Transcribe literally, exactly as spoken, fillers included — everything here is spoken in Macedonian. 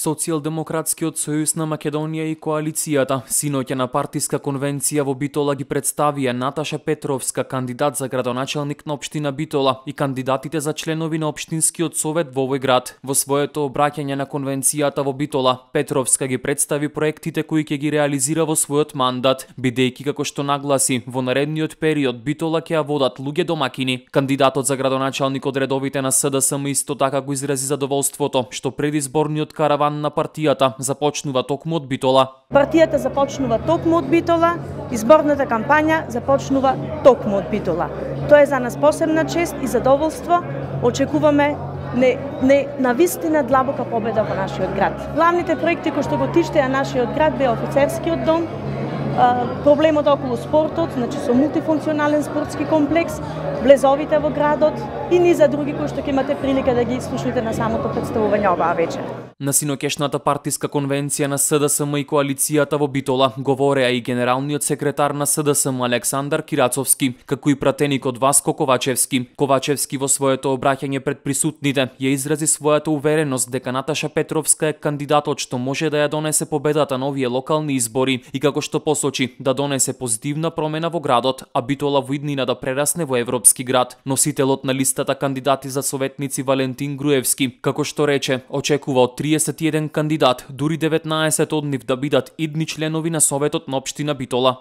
Социјалдемократскиот сојуз на Македонија и коалицијата синоќа на партиска конвенција во Битола ги представија Наташа Петровска, кандидат за градоначелник на општина Битола, и кандидатите за членови на општинскиот совет во овој град. Во своето обраќање на конвенцијата во Битола, Петровска ги представи проектите кои ќе ги реализира во својот мандат, бидејќи како што нагласи, во наредниот период Битола ќе ја водат луѓе домакини. Кандидатот за градоначелник од редовите на СДСМ исто така го изрази задоволството што предизборниот караван на партијата започнува токму од Битола. Партијата започнува токму од Битола, изборната кампања започнува токму од Битола. Тоа е за нас посебна чест и задоволство. Очекуваме не, не навистина длабока победа во нашиот град. Главните проекти кои што го тиштеа нашиот град беа офицерскиот дом, проблемот околу спортот, значи со мултифункционален спортски комплекс, влезовите во градот и низа други кои што ќе имате прилика да ги слушнете на самото представување оваа вечер. На синокешната партиска конвенција на СДСМ и коалицијата во Битола говореа и генералниот секретар на СДСМ Александар Кирацовски, како и пратеникот Васко Ковачевски. Ковачевски во своето обраќање пред присутните ја изрази својата увереност дека Наташа Петровска е кандидатот што може да ја донесе победата на овие локални избори и како што посочи да донесе позитивна промена во градот, а Битола во иднина да прерасне во европски град. Носителот на листата кандидати за советници Валентин Груевски, како што рече, очекува од триесет и еден кандидат, дури деветнаесет од нив да бидат идни членови на Советот на општина Битола.